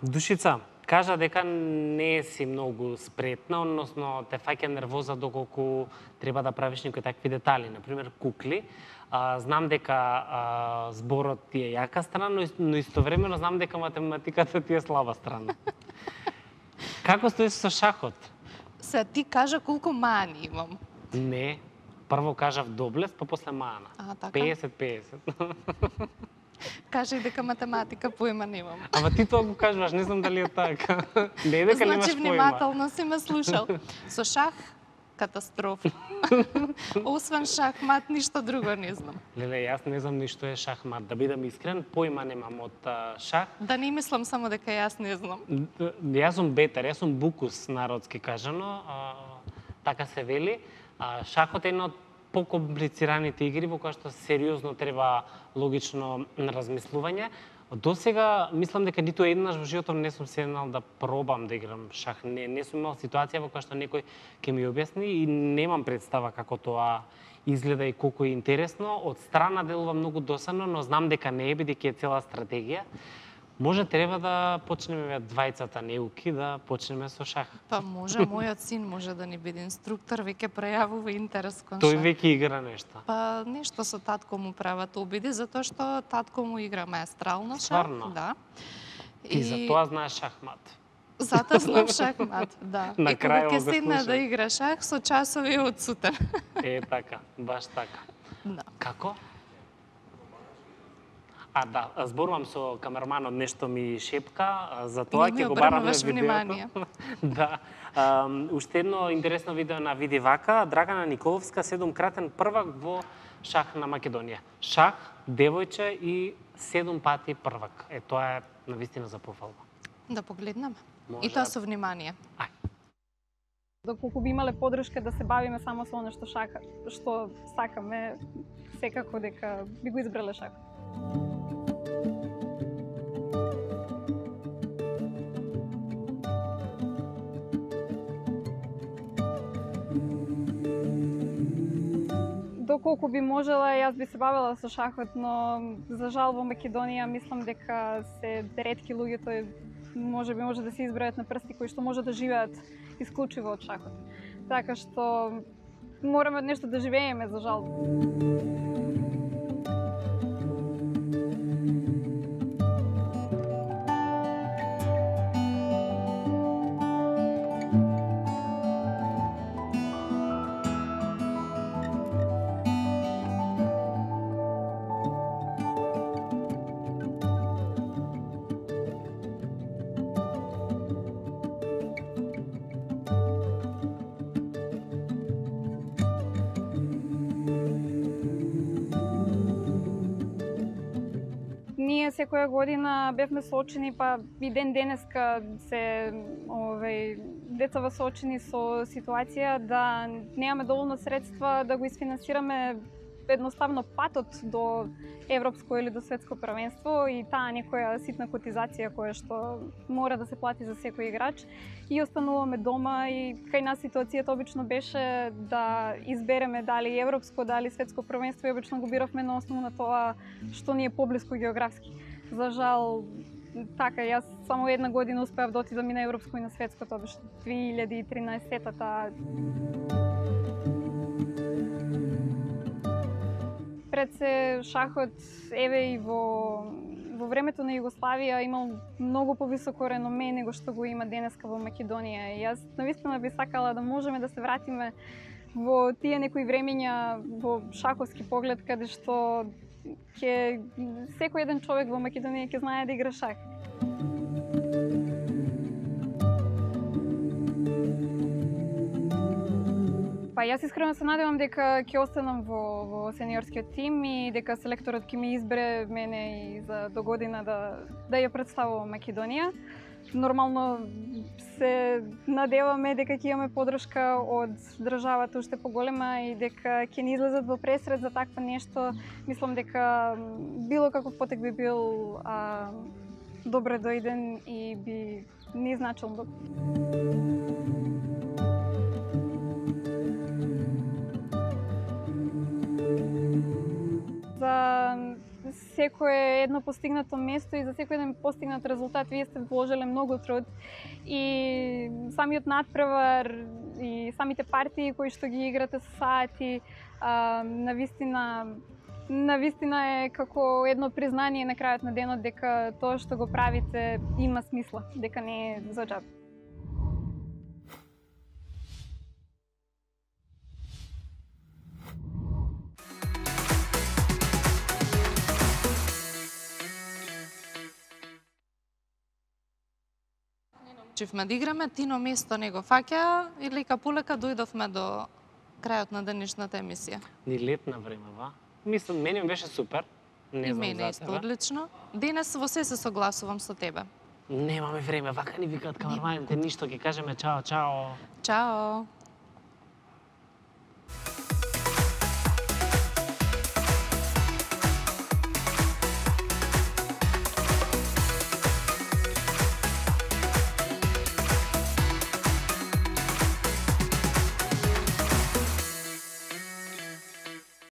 Душица, кажа дека не си многу спретна, односно те фаќа нервоза доколку треба да правиш некои такви детали, например кукли. Знам дека зборот ти е јака страна, но истовремено знам дека математиката ти е слаба страна. Како стоиш со шахот? Се ти кажа колку мани имам. Не, прво кажав доблест, па после мана. Така? 50-50. Кажи дека математика поима немам. Ама ти тоа го кажуваш, не знам дали е така. Не е дека немаш Значи поима. внимателно си ме слушал. Со шах катастрофа. Освен шахмат, ништо друго не знам. Леле, јас не знам ништо е шахмат. Да бидам искрен, поима немам од шах. Да не мислам само дека јас не знам. Јас сум бетер, јас сум букус, народски кажано. Така се вели. Шахот е една од покомплицираните игри во која што сериозно треба логично размислување. До сега мислам дека ниту еднаш во животот не сум седнал да пробам да играм шах. Не сум имал ситуација во која што некој ќе ми објасни и немам представа како тоа изгледа и колку е интересно. Од страна делува многу досадно, но знам дека не е, бидејќи е цела стратегија. Може треба да почнеме двајцата неуки да почнеме со шах. Па може, мојот син може да ни биде инструктор, веќе пројавува интерес кон шах. Тој шах. веќе игра нешто. Па нешто со татко му прават обиди, затоа што татко му игра маестрално шах. Стварно? Да. И за тоа знаеш шахмат. Затоа знам шахмат, да. На крајот ќе седна да игра шах со часови од сутен. Е така, баш така. Да. Како? Да, зборувам со камерманот, нешто ми шепка, за тоа ќе го бараме видеото. Да. Уште едно интересно видео на Види вака, Драгана Николовска, 7-кратен првак во шах на Македонија. Шах, девојче и 7 пати првак. Тоа е навистина за пофалба. Да погледнеме. Може. И тоа со внимание. Доколку би имале подршка да се бавиме само со оно што сакаме, секако дека би го избрале шах. Доколку би можела, јас би се бавела со шахот, но за жал во Македонија мислам дека се ретки луѓето, може да се избројат на прсти кои што може да живеат исклучиво од шахот. Така што мораме нешто да живееме, за жал. Ние секоја година бевме соочени, па и ден денеска се децава соочени со ситуација да немаме доволно средства да го isfinansirаме едноставно патот до европско или до светско првенство и таа некоја ситна котизација која што мора да се плати за секој играч и остануваме дома и кај нас ситуацијата обично беше да избереме дали европско, дали светско првенство и обично го биравме на основа на тоа што ни е поблиску географски. За жал, така, јас само една година успеав да отидам и на европско и на светско, тоа беше 2013-та. Пред се шахот, еве и во времето на Југославија имал многу повисоко реноме него што го има денеска во Македонија. И јас навистина би сакала да можеме да се вратиме во тие некои времења во шаховски поглед, каде што секој еден човек во Македонија ќе знае да игра шах. Па јас искрено се надевам дека ќе останам во сениорскиот тим и дека селекторот ќе ми избере мене и за до година да ја представувам Македонија. Нормално се надеваме дека ќе имаме подршка од државата уште поголема и дека ќе ни излезат во пресред за такво нешто. Мислам дека било каков потек би бил добре дојден и би ни значил многу. За секое едно постигнато место и за секој еден постигнат резултат вие сте вложеле многу труд и самиот натпревар и самите партии кои што ги играте со сати, навистина е како едно признание на крајот на денот дека тоа што го правите има смисла, дека не е за џаб. Чивме да играме, Тино место не го фаќа и лека полека дојдовме до крајот на денешната емисија. Ни летна време, ва? Мислам, мене ми беше супер. Не И знам мене за исто тебе. одлично. Денес во се согласувам со тебе. Немаме време, вака ни викаат камерманите, ништо ќе кажеме чао, чао. Чао!